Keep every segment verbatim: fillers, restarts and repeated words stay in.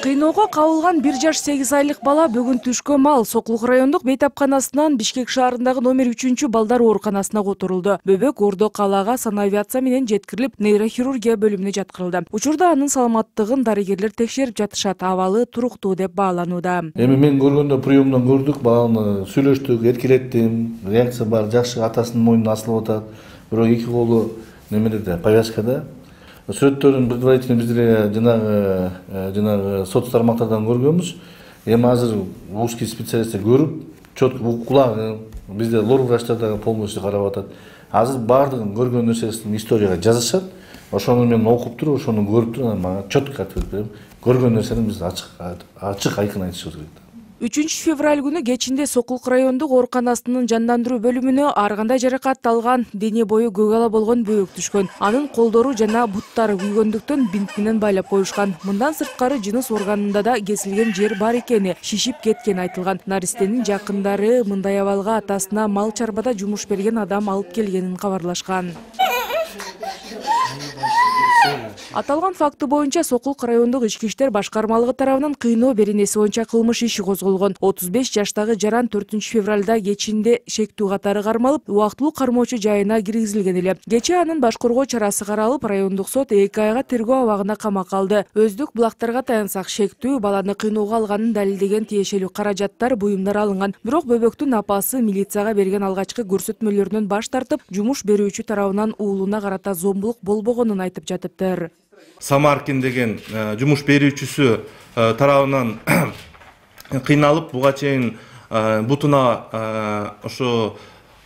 Кыйноого кабылган бир жаш сегиз айлык бала бүгүн түшкө мал Сокулук райондук бейтапканасынан Бишкек шаарындагы номер үчүнчү балдар ооруканасына которулду. Бөбөк Ордо калаага санавиация менен жеткирилип, нейрохирургия бөлүмүнө жаткырылды. Учурда анын саламаттыгын дарыгерлер текшерип жатышат, абалы туруктуу деп бааланууда. Эми мен көргөндө приемдон көрдүк, баланы сүйлөштүк, эркелеттим, реакция бар, жакшы, атасынын мойнуна асылып атат. Бирок эки колу немеде, повязкада. Сүрөттөрүн предварительно биздер жанагы жанагы сот тармактардан көргөнбүз. Эми азыр узкий специалисттер көрүп, четко кулагы, бизде лор врачтар полностью карап атат. Азыр баардыгын көргөн нерсесин историяга жазышат. Ошону мен окуп туруп, ошону көрүп туруп, мага четко айтып берем. Көргөн нерсени биз ачык ачык айкын айтышыбыз керек. үчүнчү февраль күнү кечинде Сокулук райондук ооруканасынын жандандыруу бөлүмүнө ар кандай жаракат алган, дене бою көк ала болгон бөбөк түшкөн. Анын колдору жана буттары күйгөндүктөн бинт менен байлап коюшкан. Мындан сырткары жыныс органында да кесилген жер бар экени, шишип кеткени айтылган. Наристенин жакындары мындай абалга атасына мал чарбада жумуш берген адам алып келгенин кабарлашкан. Аталган факты боюнча Сокулук райондук ички иштер башкармалыгы тарабынан кыйноо беренеси боюнча кылмыш иши козголгон. отуз беш жаштагы жаран төртүнчү февралда кечинде шектүү катары кармалып, убактылуу кармоочу жайына киргизилген эле. Кечээ анын баш коргоо чарасы каралып, райондук сот эки айга тергөө абагына камакка алды. Өздүк булактарга таянсак, шектүү баланы кыйноого алганын далилдеген тиешелүү каражаттар, буюмдар алынган. Бирок бөбөктүн апасы милицияга берген алгачкы көрсөтмөлөрүнөн баш тартып, жумуш берүүчү тарабынан уулуна карата зомбулук болбогонун айтып жатыптыр. Самаркин деген жумуш берүүчүсү тарабынан кыйналып, буга чейин бутуна ошо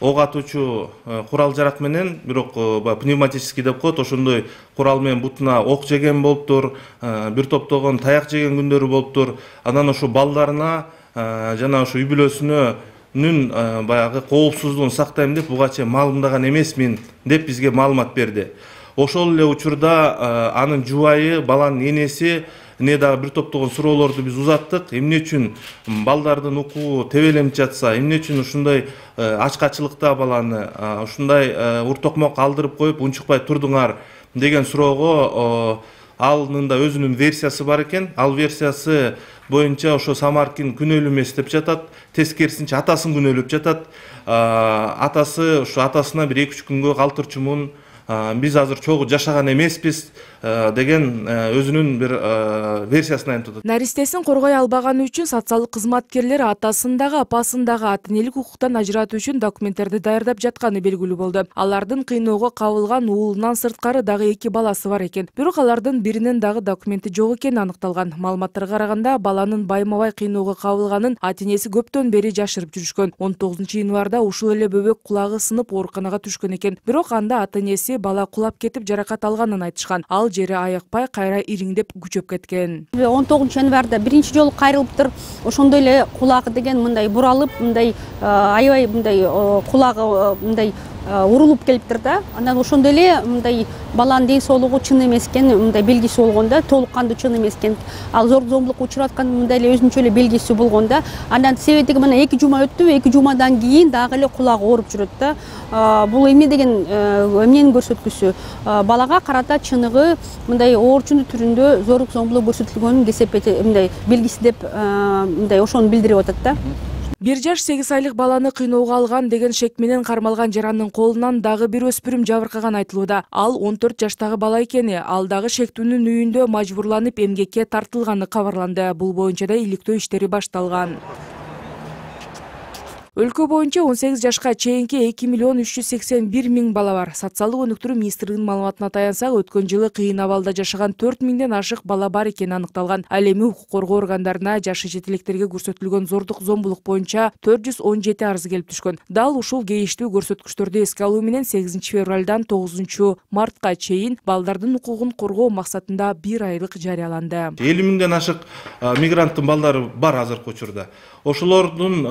ок атуучу курал жарак менен, бирок пневматический деп коет, ошондой курал менен бутуна ок жеген болуптур, бир топтогон таяк жеген күндөрү болуптур. Анан ошо балдарына жана ошо үй бүлөсүнүн баягы коопсуздугун сактайм деп буга чейин маалымдаган эмесмин деп бизге маалымат берди. Ошол эле учурда анын жубайы, баланын энеси не дагы бир топтогон суроолорду биз узаттык. Эмне үчүн балдардын укугу тебеленип жатса, эмне үчүн ушундай ачкачылыкта баланы ушундай уртокмок алдырып коюп унчукпай турдуңар деген суроого анын да өзүнүн версиясы бар экен. Ал версиясы боюнча ошо Самаркин күнөөлүү эмес деп жатат, тескерисинче атасын күнөөлөп жатат. Атасы ошо атасына бир эки үч күнгө калтырчумун, биз азыр чогуу жашаган эмеспиз деген өзүнүн бир версиясын айтып атат. Наристесин коргой албаганы үчүн социалдык кызматкерлер атасын дагы, апасын дагы ата энелик укуктан ажыратуу үчүн документтерди даярдап жатканы белгилүү болду. Алардын кыйноого кабылган уулунан сырткары дагы эки баласы бар экен. Бирок алардын биринин дагы документи жок экени аныкталган. Маалыматтарга караганда, баланын байма-бай кыйноого кабылганын ата энеси көптөн бери жашырып жүрүшкөн. он тогузунчу январда ушул эле бөбөк кулагы сынып ооруканага түшкөн экен. Бирок анда ата энеси бала кулап кетип жаракат алганын айтышкан. Ал жери аякпай кайра ириңдеп күчөп кеткен. он тогузунчу январда биринчи жолу кайрылыптыр. Ошондой эле кулагы деген мындай буралып, мындай аябай мындай кулагы мындай урулуп келиптир да. Анан ошондой эле мындай баланын ден соолугу чын эмес экен, мындай белгиси болгон да, толук кандуу чын эмес экен. Ал зор зомбулукка учураткан мындай эле өзүнчө эле белгиси болгон да. Андан себеби мына эки жума өттү, эки жумадан кийин дагы эле кулагы ооруп жүрөт да. Бул эмне деген эмненин көрсөткүсү? Балага карата чыныгы мындай оорчундун түрүндө зорлук зомбулук көрсөтүлгөнүн кесепети мындай белгиси деп мындай ошону билдирип атат да. бир жаш сегиз айлык баланы кыйноого алган деген шек менен кармалган жарандын колунан дагы бир өспүрүм жабыркаган айтылууда. Ал он төрт жаштагы бала экени, ал дагы шектүүнүн үйүндө мажбурланып эмгекке тартылганы кабарланды. Бул боюнча да иликтөө иштери башталган. Өлкө боюнча он сегиз жашка чейинки эки миллион үч жүз сексен бир миң бала бар. Социалдык өнүктүрүү министрлигинин маалыматына таянсак, өткөн жылы кыйын абалда жашаган төрт миңден ашык бала бар экени аныкталган. Ал эми укук коргоо органдарына жашы жетилектерге көрсөтүлгөн зордук зомбулук боюнча төрт жүз он жети арыз келип түшкөн. Дал ушул кейиштүү көрсөткүчтөрдү эске алуу менен сегизинчи февралдан тогузунчу мартка чейин балдардын укугун коргоо максатында бир айлык жарыяланды. элүү миңден ашык мигранттын балдары бар азыркы учурда. Ошолордун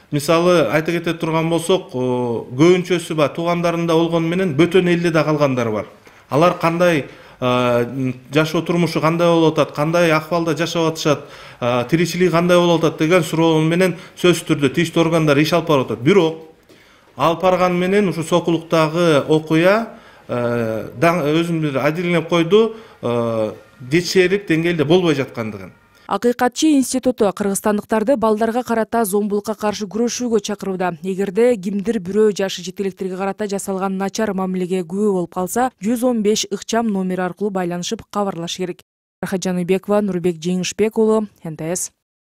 мисалы айта кете турган болсок, көбүнчөсү ба туугандарында болгону менен бөтөн элде да калгандар бар. Алар кандай жашоо турмушу кандай болуп атат, кандай акыбалда жашап атышат, тиричилиги кандай болуп атат деген суроо менен сөзсүз түрдө тийиштүү органдар иш алып барып атат. Бирок алып барган менен ушу Сокулуктагы окуя өзүн бир адилдеп койду. жетишерлик деңгээлде болбой жаткандыгын. Акыйкатчы институту кыргызстандыктарды балдарга карата зомбулукка каршы күрөшүүгө чакырууда. Эгерде кимдир бирөө жашы жеткиликтерге карата жасалган начар мамилеге күбө болуп калса, жүз он беш ыкчам номери аркылуу байланышып кабарлашы керек. Рахат Жаныбекова, Нурбек Жеңишбек уулу, эн тэ эс.